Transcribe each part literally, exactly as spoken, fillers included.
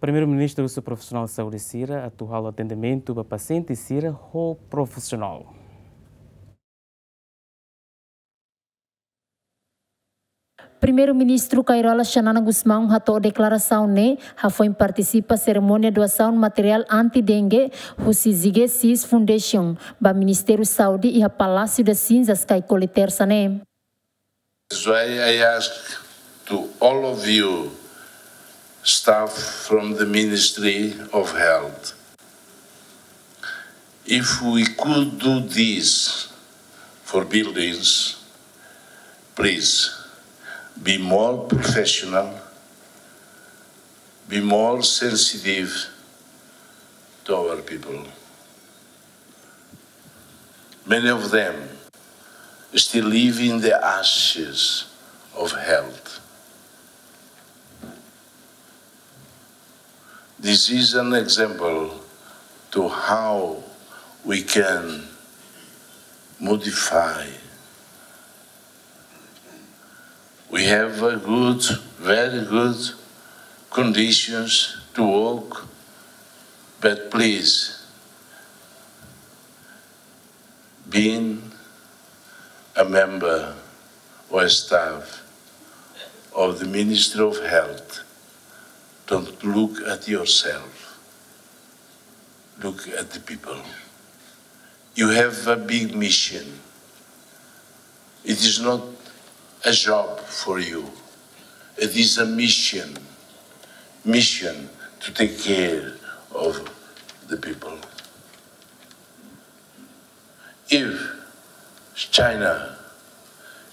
Primeiru-Ministru husu profisionál saúde sira atu halo atendimentu ba pasiente sira ho profisionál. Primeiru-Ministru Kay Rala Xanana Gusmão hato'o deklarasaun ne'e hafoin partisipa serimónia doasaun materiál anti-dengue husi Zige Sis Foundation ba Ministériu Saúde iha Palásiu das Cinzas, Caicoli, Tersa ne'e. That's why I ask to all of you, staff from the Ministry of Health, if we could do this for buildings, please be more professional, be more sensitive to our people. Many of them still live in the ashes of health. This is an example to how we can modify. We have a good, very good conditions to work, but please, being a member or staff of the Ministry of Health, don't look at yourself. Look at the people. You have a big mission. It is not a job for you. It is a mission. Mission to take care of the people. If China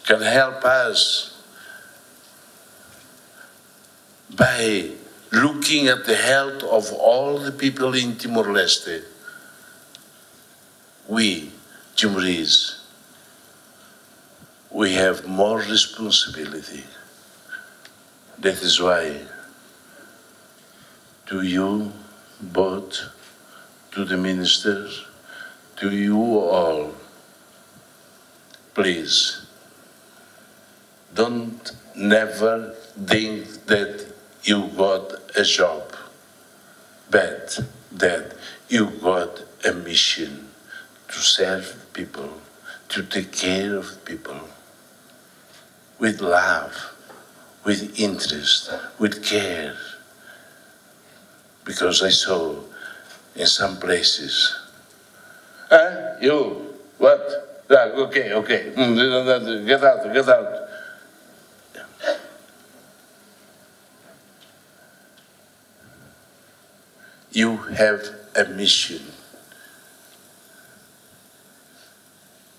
can help us by looking at the health of all the people in Timor-Leste, we, Timorese, we have more responsibility. That is why, to you both, to the ministers, to you all, please, don't never think that you got a job, but that you got a mission to serve people, to take care of people with love, with interest, with care. Because I saw in some places, "Eh, you, what? Yeah, okay, okay. Mm, get out, get out." You have a mission.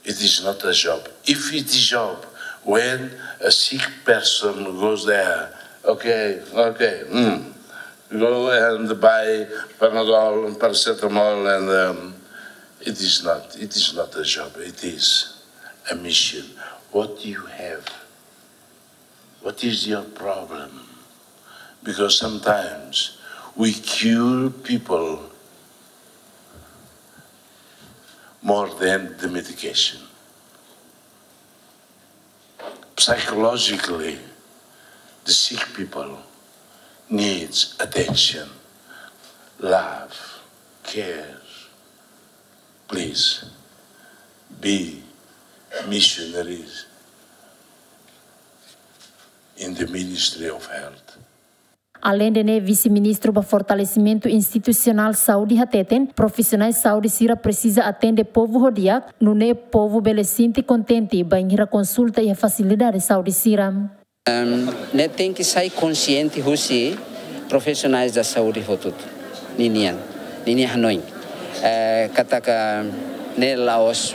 It is not a job. If it is job, when a sick person goes there, "Okay, okay, mm, go and buy Panadol, paracetamol," and, um, it is not, it is not a job. It is a mission. What do you have? What is your problem? Because sometimes we cure people more than the medication. Psychologically, the sick people needs attention, love, care. Please, be missionaries in the Ministry of Health. Aleinde ne'e, Vise-Ministru ba Fortalesimentu Institusionál Saúde hateten, profisionais saúde sira presiza atende povu ho di'ak, nune'e povu bele sente kontente bainhira konsulta iha fasilidade saúde sira. Ehm, ne'e tenke sai konsiente husi profissionais da saúde hotu-hotu ninian, ninia hanoin. Eh, katak ne'e la'ós,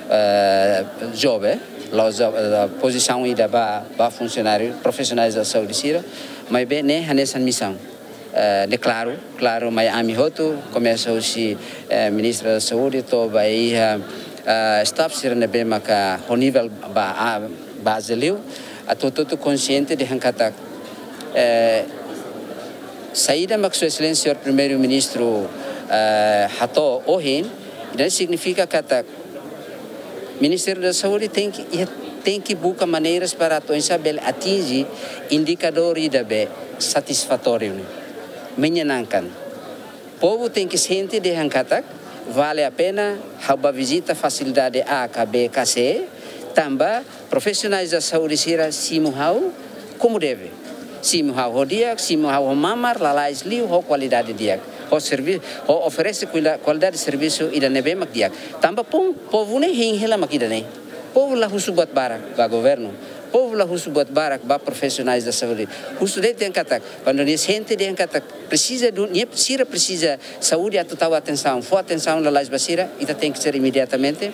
eh, job, eh, la'ós, eh, pozisaun ida ba, ba funsionáriu, profissionais da saúde sira, maibé ne'e hanesan misaun. Eh, ne'e klaru, klaru, mai ami hotu, komesa husi, eh, Ministra da Saúde, to'o ba iha, eh, staff sira ne'ebé maka ho nivel ba, ah, baze liu, atu hotu-hotu konsiente dehan katak, eh, saida mak Sua Exelénsia Señór Primeiru-Ministru, eh, hato'o ohin, ne'e signifika katak Ministériu da Saúde tenke, iha, tenke buka maneiras para atu oinsá bele atinje indikadór ida be satisfatóriu ne'e. Menyenangkan. Povu tenke sente dehan katak vale a pena ha'u bá vizita fasilidade A ka B ka C, tanba profisionais da saúde sira simu ha'u komu deve. Simu ha'u ho di'ak, simu ha'u ho mamar, lalais liu, ho kualidade di'ak. Ho servi-, ho oferese kuila-, kualidade servisu ida ne'ebé mak di'ak. Tanba pon, povu ne'e hein hela mak ida-ne'e. Povu la husu buat barak ba governu. Povu la husu buat barak ba profisionais da saúde. Husu de'it dehan katak, kuandu nia sente dehan katak presiza, nia sira presiza saúde atu tau atensaun, fó atensaun lalais ba sira, ita tenke ser imediatamente,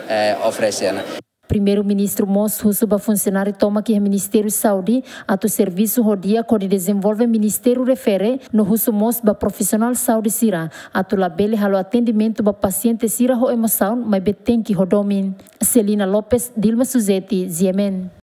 eh, oferese ona. Primeiru-Ministru mós husu ba funsionáriu tomak iha Ministériu Saúde atu servisu ho di'ak hodi dezenvolve ministériu refere, no husu mós ba profisionál saúde sira atu labele halo atendimentu ba pasiente sira ho emosaun, maibé tenke ho domin. Celina Lopes, Dilma Suzeti, G M N.